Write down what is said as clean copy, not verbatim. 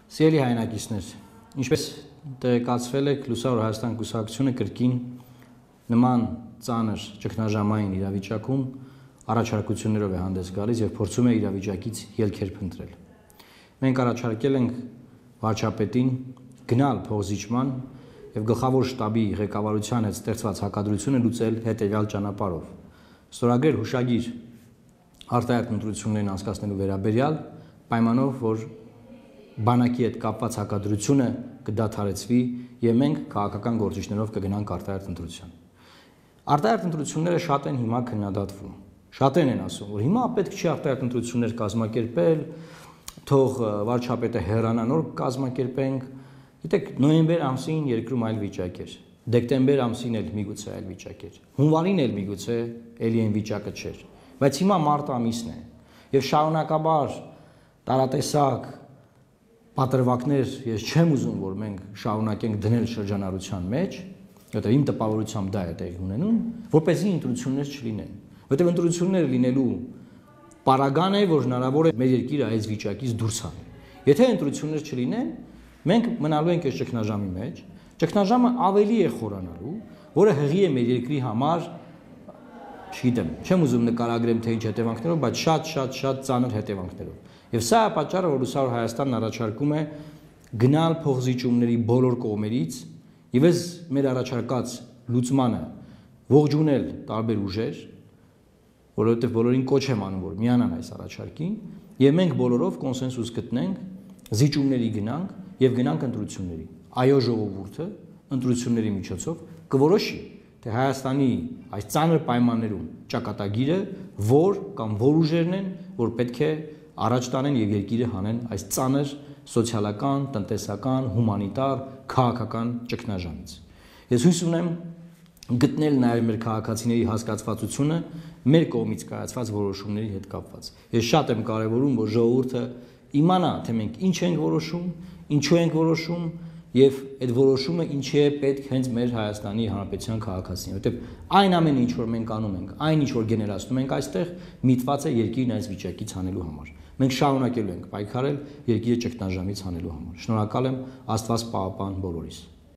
Սիրելի հայրենակիցներ, ինչպես տեղեկացվել եք, Լուսավոր Հայաստան կուսակցությունը կրկին նման ծանր ճգնաժամային իրավիճակում առաջարկություններով է հանդես գալիս եւ փորձում է իրավիճակից ելքեր փնտրել։ Մենք առաջարկել ենք վարչապետին գնալ փոխզիջման եւ գլխավոր շտաբի ղեկավարության հետ ստեղծված հակադրությունը լուծել հետեւյալ ճանապարհով։ Ստորագրել հուշագիր արտահայտ ընտրություններին անցկացնելու վերաբերյալ պայմանով, որ բանակի հետ կապված հակադրությունը կդադարեցվի եւ մենք քաղաքական գործիչներով կգնանք արտահայտ ընտրության։ Արտահայտ ընտրությունները շատ են հիմա քննադատվում։ Շատերն են ասում, որ հիմա պետք չի արտահայտ ընտրություններ կազմակերպել, թող վարչապետը հեռանա, նոր կազմակերպենք։ Գիտեք, նոյեմբեր ամսին երկրում այլ վիճակ էր։ Դեկտեմբեր ամսին էլ միգուցե այլ վիճակ էր։ Հունվարին էլ միգուցե էլի այն վիճակը չէր։ Բայց հիմա մարտ ամիսն է եւ շարունակաբար տարատեսակ պատրվակներ ես չեմ ուզում, որ մենք շարունակենք դնել շրջանառության մեջ, որտեղ իմ տպավորությամբ դա է տեղի ունենում, որպեսզի ընտրություններ չլինեն։ Որտեղ ընտրությունները լինելու պարագան է, որ հնարավոր է մեր երկիրը այս վիճակից դուրս հանել։ Եթե ընտրություններ չլինեն, մենք մնալու ենք այս ճգնաժամի մեջ, ճգնաժամը ավելի է խորանալու, որը հղի է մեր երկրի համար, չգիտեմ, չեմ ուզում նկարագրեմ թե ինչ հետևանքներով, բայց շատ ծանր հետևանքներով։ Եվ սա է պատճառը, որ Լուսավոր Հայաստանն առաջարկում է գնալ փոխզիջումների բոլոր կողմերից եւ այս մեր առաջարկած լուծմանը ողջունել տարբեր ուժեր, որովհետեւ բոլորին կոչ եմ անում, որ միանան այս առաջարկին, եւ մենք բոլորով կոնսենսուս գտնենք, զիջումների գնանք եւ գնանք ընտրությունների։ Այո, ժողովուրդը ընտրությունների միջոցով կորոշի, թե Հայաստանի այս ծանր պայմաններում ճակատագիրը որ կամ որ ուժերն են, որ պետք է առաջ տանեն եւ երկիրը հանեն այս ծանր սոցիալական, տնտեսական, հումանիտար, քաղաքական ճգնաժամից։ Ես հույս ունեմ գտնել նաեւ մեր քաղաքացիների հասկացվածությունը մեր կողմից կայացված որոշումների հետ կապված։ Ես շատ եմ կարևորում, որ ժողովուրդը իմանա, թե մենք ինչ ենք որոշում, ինչու ենք որոշում եւ այդ որոշումը ինչի է պետք հենց մեր Հայաստանի Հանրապետության քաղաքացիներին, որտեղ այն ամենը ինչ որ մենք անում ենք, այն ինչ որ գեներացնում ենք այստեղ, միտված է երկիրն այս վիճակից հանելու համար։ Մենք շարունակելու ենք պայքարել երկիրը ճգնաժամից հանելու համար։ Շնորհակալ եմ, Աստված պահապան բոլորիս։